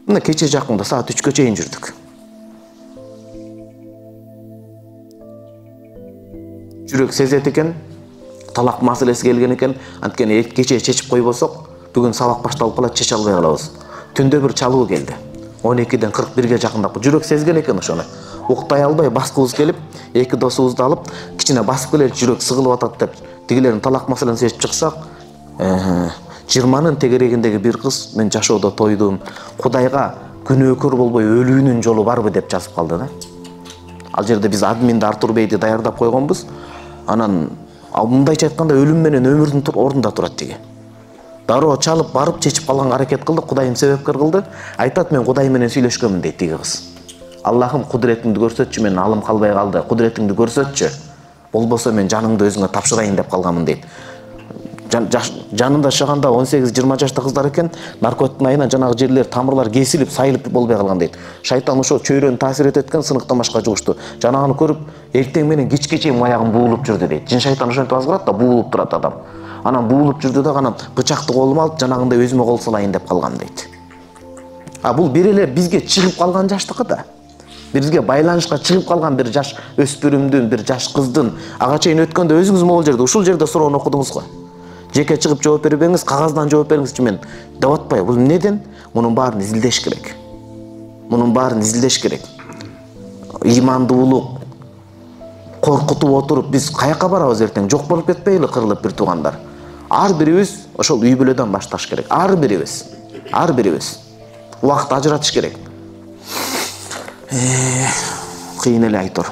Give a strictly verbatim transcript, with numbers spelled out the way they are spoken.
Мына кече жакында саат үчкө чейин жүрдүк. Жүрөк сезет экен, талак маселеси келген экен. Анткени кече чечип койбосок, бүгүн сабак башталып калат, чече албай калабыз. Түндө бир чалуу келди. он экиден кырк бирге жакындап жүрөк сезген экен ошону. Уктай албай баскыбыз келип, эки досубузду алып, кичине басып келели, жүрөк сыгылып атат деп, тигилердин талак маселесин чечип чыксак, жыйырманын тегерегиндеги бир кыз мен жашоодо тойдум, Кудайга күнөөкөр болбой өлүүнүн жолу барбы деп жазып калды да. Ал жерде биз админди Артур Бейди даярдап койгонбуз. Анан мындайча айтканда өлүм менен өмүрдүн ордунда турат тиги. Дароо чалып барып чечип калганга аракет кылды, Кудайым себепкер кылды. Айтат, мен Кудай менен сүйлөшкөнмүн дейт тиги кыз. Аллахым, кудуретиңди көрсөтчү, мен алым калбай калды. Кудуретиңди көрсөтчү. Болбосо мен жаныңды өзүңө тапшырайын деп калганмын дейт. Жанында жашаганда он сегиз жыйырма жашта кыздар экен, наркотиктин айынан жанагы жерлер, тамырлар кесилип, сайылып болбой калган дейт. Шайтан ошо чөйрөнү таасир этет экен, сыныктан башка жугушту. Жанаганы көрүп, эртең менен кечке чейин аягым буулуп жүрдү дейт. Жин шайтан ошентип аз кылат да, буулуп турат адам. Анан буулуп жүрдү да, анан бычакты колума алып, жанагындай өзүмө кол салайын деп калгам дейт. А бул бир эле бизге чыгып калган жаштыкы да. Бизге байланышка чыгып калган бир жаш өспүрүмдүн, бир жаш кыздын ага чейин өткөндө өзүңүз могул жерде, ушул жерде суроону окудуңуз го. Жеке чыгып жооп бербеңиз, кагаздан жооп бериңизчи, мен деп атпайбы. Бул эмнеден? Мунун баарын изилдеш керек. Мунун баарын изилдеш керек. Ыймандуулук коркутуп отуруп биз каяка барабыз эртең? Жок болуп кетпейли кырылып бир туугандар. Ар бирибиз ошол үй бүлөдөн башташ керек. Ар бирибиз. Ар бирибиз. Убакыт ажыратыш керек. Кыйын эле айтор.